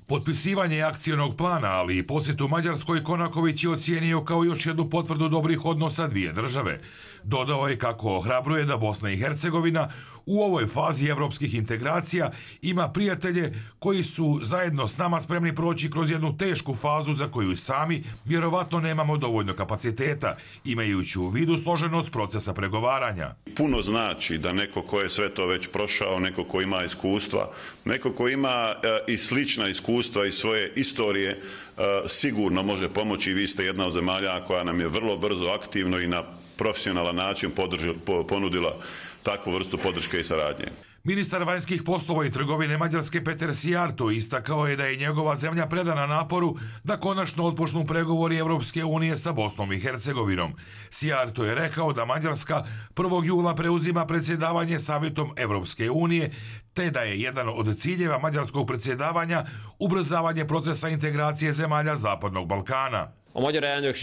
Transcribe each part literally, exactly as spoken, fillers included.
Potpisivanje akcionog plana, ali i posjetu Mađarskoj, Konaković je ocijenio kao još jednu potvrdu dobrih odnosa dvije države. Dodao je kako ohrabruje da Bosna i Hercegovina u ovoj fazi evropskih integracija ima prijatelje koji su zajedno s nama spremni proći kroz jednu tešku fazu za koju sami vjerovatno nemamo dovoljno kapaciteta, imajući u vidu složenost procesa pregovaranja. Puno znači da neko ko je sve to već prošao, neko ko ima iskustva, neko ko ima e, i slična iskustva iz svoje istorije, e, sigurno može pomoći. Vi ste jedna od zemalja koja nam je vrlo brzo, aktivno i na profesionalan način podrži, po, ponudila takvu vrstu podrške i saradnje. Ministar vanjskih poslova i trgovine Mađarske Peter Sijarto istakao je da je njegova zemlja predana naporu da konačno otpočnu pregovori Evropske unije sa Bosnom i Hercegovinom. Sijarto je rekao da Mađarska prvog jula preuzima predsjedavanje Savjetom Evropske unije, te da je jedan od ciljeva mađarskog predsjedavanja ubrzavanje procesa integracije zemalja Zapadnog Balkana.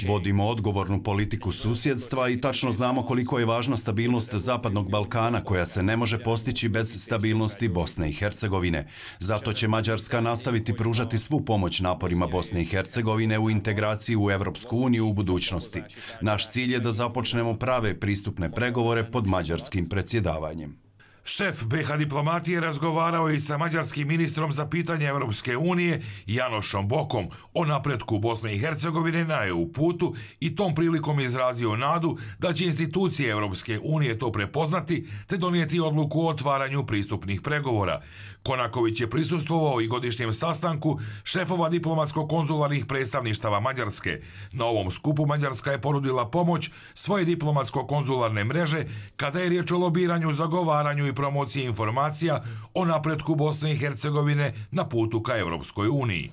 Vodimo odgovornu politiku susjedstva i tačno znamo koliko je važna stabilnost Zapadnog Balkana koja se ne može postići bez stabilnosti Bosne i Hercegovine. Zato će Mađarska nastaviti pružati svu pomoć naporima Bosne i Hercegovine u integraciji u Evropsku uniju u budućnosti. Naš cilj je da započnemo prave pristupne pregovore pod mađarskim predsjedavanjem. Šef be ha diplomatije razgovarao je i sa mađarskim ministrom za pitanje Evropske unije Janošom Bokom o napretku Bosne i Hercegovine na E U putu i tom prilikom izrazio nadu da će institucije Evropske unije to prepoznati te donijeti odluku o otvaranju pristupnih pregovora. Konaković je prisustvovao i godišnjem sastanku šefova diplomatsko-konzularnih predstavništava Mađarske. Na ovom skupu Mađarska je ponudila pomoć svoje diplomatsko-konzularne mreže kada je riječ o lobiranju, zagovaranju i promociji informacija o napretku Bosne i Hercegovine na putu ka Evropskoj uniji.